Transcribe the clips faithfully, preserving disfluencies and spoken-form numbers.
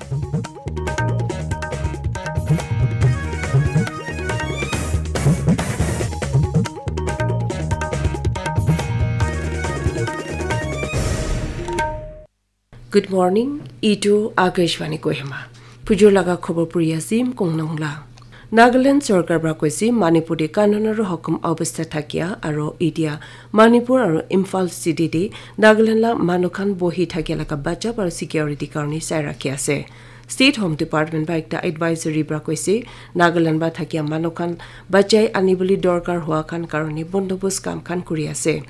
Good morning, itu Akashvani Kohima. Pujur laga khobor puri asim kong nongla. Nagaland sorkar pra koise Manipur te kanun aru hukum obostha thakia aru itia Manipur aru Imphal city te Nagaland la manu khan bohi thakia laga bachap aru security karne sai rakhi ase. State Home Department pra ekta advisory pra koise Nagaland pra thakia manu khan bachai anibole dorkar hua khan karne bondobos kam khan kuri ase.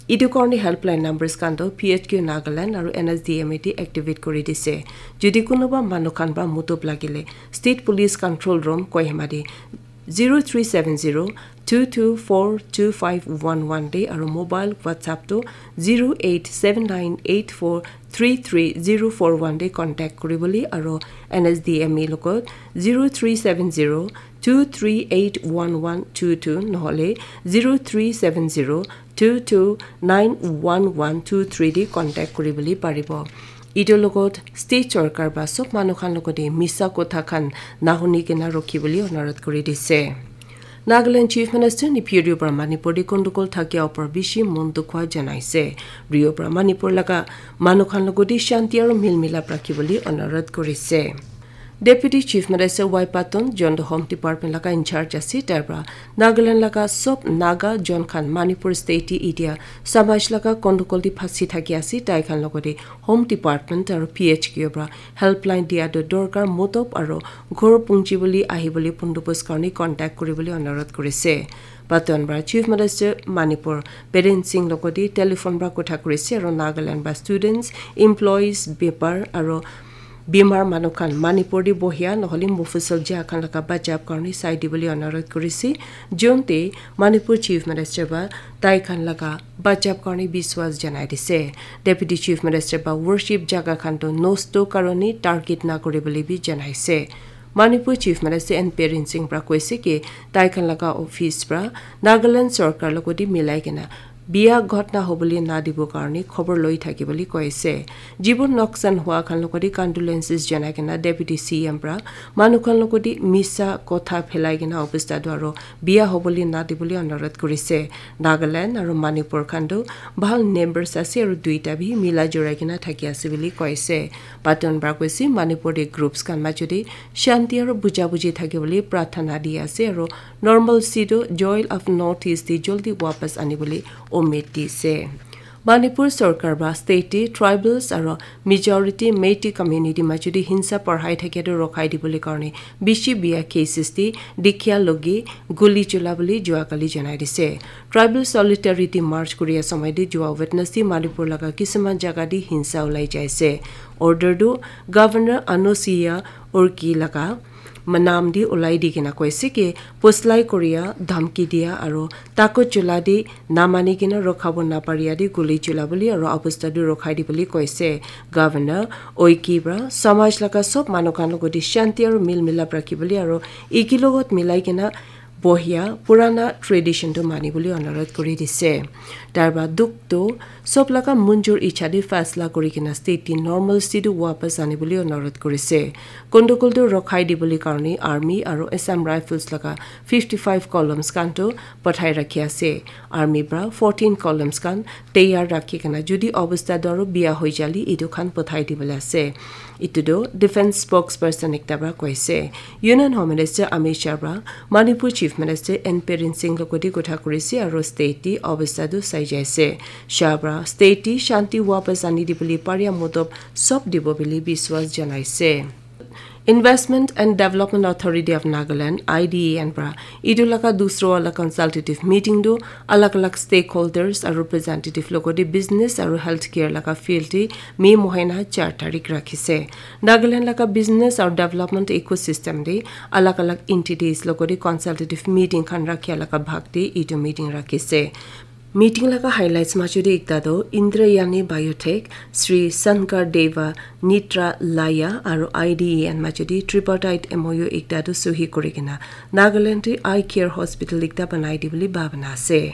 Etu karne helpline numbers khan toh P H Q Nagaland aru N S D M A te activate kuri dise. Jodi kunuba manu khan pra mutub lagile State Police Control Room Kohima te zero three seven zero two two four two five one one te aru mobile WhatsApp toh zero eight seven nine eight four three three zero four one te contact kuribole aru N S D M A logot zero three seven zero two three eight one one two two nohole zero three seven zero two two nine one one two three te contact kuribole paribo. Etu logot state sorkar pra sob manu khan logote misa kotha khan nahuni kena rokhi bole onurodh kuri dise. Nagaland Chief Minister Neiphiu Rio pra Manipur te kondokol thakia opor bishi mon dukh hua janaise. Rio pra Manipur laga manu khan logote shanti aru mil milap rakhi bole onurodh kurise. Deputy Chief Minister Y Patton, jon toh Home Department laga in charge ase, tai pra Nagaland laga sob Naga jon khan Manipur state te itia samaj laga kondokol te phasi thaki ase, tai khan logote Home Department aru P H Q pra helpline dia toh dorkar mutub aru ghor punchi bole ahi bole bondobos karne contact kuri bole onurodh kurise. Patton pra Chief Minister Manipur Biren Singh logote telephone pra kotha kurise aru Nagaland pra students, employees, bepar aru bimar manu khan Manipur te bohia nohole mufusal ja khan laga bachap karne sai dibole onurodh kurise. Jun te Manipur Chief Minister pra tai khan laga bachap karne biswas janai dise. Deputy Chief Minister pra worship jaga khan toh nosto karne target na kuri bole bi janaise. Manipur Chief Minister N Biren Singh pra koise ki tai khan laga office pra Nagaland sorkar logote milai kena bia ghotna hobole na dibo karne khobor loi thaki bole koise. Jibon noksan hua khan logote condolences janai kena Deputy C M pra manu khan logote misa kotha phelai kena obostha toh aru bia hobole na dibole onurodh kurise. Nagaland aru Manipur khan toh bhal neighbors ase aru duita bi mila jurai kena thaki ase bole koise. Patton pra koise Manipur te groups khan majo te shanti aru buja buji thaki bole prarthana di ase aru normalcy toh Joy of North East te jaldi wapas ani bole umid dise. Manipur sorkar pra state te tribals aru majority Meitei community majo te hinsa parhai thakia toh rokhai dibole karne bishi bia cases te dikhia logi guli chula bole jua kali janai dise. Tribal Solidarity March kuria samay te jua Wednesday Manipur laga kisuman jaga te hinsa ulai jaise. Order tu Governor Anusuiya Uikey laga manam te ulai di kena koise ki puslai kuria, dhamki dia aru takut chula te namani kena rokhabo naparia te guli chula bole aru obostha tu rokhai dibole koise. Governor Uikey pra samaj laga sob manu khan logote shanti aru mil milap rakhi bole aru eki logot milai kena bohia purana tradition tu mani bole onurodh kuri dise. Tar pra dukh tu sob laga munjur icha te fasla kuri kena state te normalcy tu wapas ani bole onurodh kurise. Kondokol tu rokhai dibole karne army aru Assam Rifles laga fifty five columns khan tu pathai rakhi ase. Army pra fourteen columns khan tayar rakhi kena jodi obostha toh aru bia hoi jale etu khan pathai dibole ase. Etu toh defense spokesperson ekta pra koise. Union Home Minister Amit Shah pra Manipur Chief Minister N Biren Singh logote kotha kurise aru state te obostha tu sai jaise. Shah pra state te shanti wapas ani dibole paria mutub sob dibo bole biswas janaise. Investment and Development Authority of Nagaland, I D A N pra etu laga dusra wala consultative meeting tu alag alag stakeholders aru representative logote business aru healthcare laga field te May mohina char tarik rakhise. Nagaland laga business aru development ecosystem te alag alag entities logote consultative meeting khan rakhia laga bhag te etu meeting rakhise. Meeting laga highlights majo te ekta tu Indrayani Biotech, Sri Sankar Deva Netralaya aru I D A N majo te tripartite M O U ekta tu suhi kuri kena Nagaland te eye care hospital ekta banai dibole bhabana ase.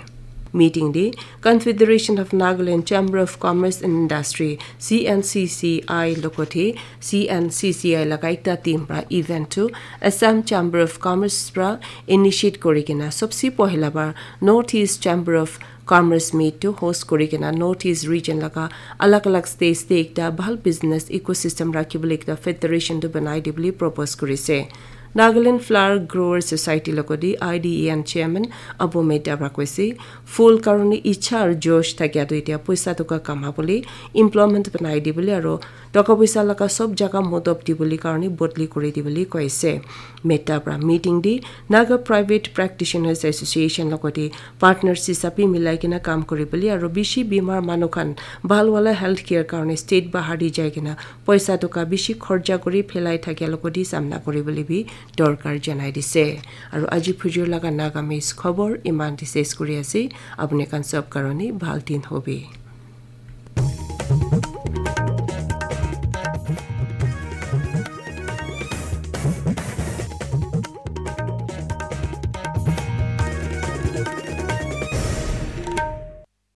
Meeting de Confederation of Nagaland Chamber of Commerce and Industry, C N C C I, logote C N C C I laga ekta team pra event tu Assam Chamber of Commerce pra initiate kori kena sobse pohila bar North East Chamber of Commerce meet tu host kori kena North East region laga alag alag states te ekta bhal business ecosystem rakhi bole ekta federation tu banai de bole propose korise. Nagaland Flower Growers Society logote I D E N chairman Abu Mehta pra koise, phul karone icha aru josh thakia tu etia poisa toka kama bole, employment banai di bole aru toka poisa laga sob jaga modop di bole karone bodli kori di bole koise. Mehta pra meeting de Naga Private Practitioners Association logote partners hisabe milai kena kam kori bole aru bishi bimar manu khan bhal wala health care karone state bahar de jai kena poisa toka bishi khorcha kori phelai thakia logote samna kori bole bi dorkar janai dise. Aru aji phujur laga Nagamese khobor iman de ses kori ase. Apni khan sob karone bhal din hobe.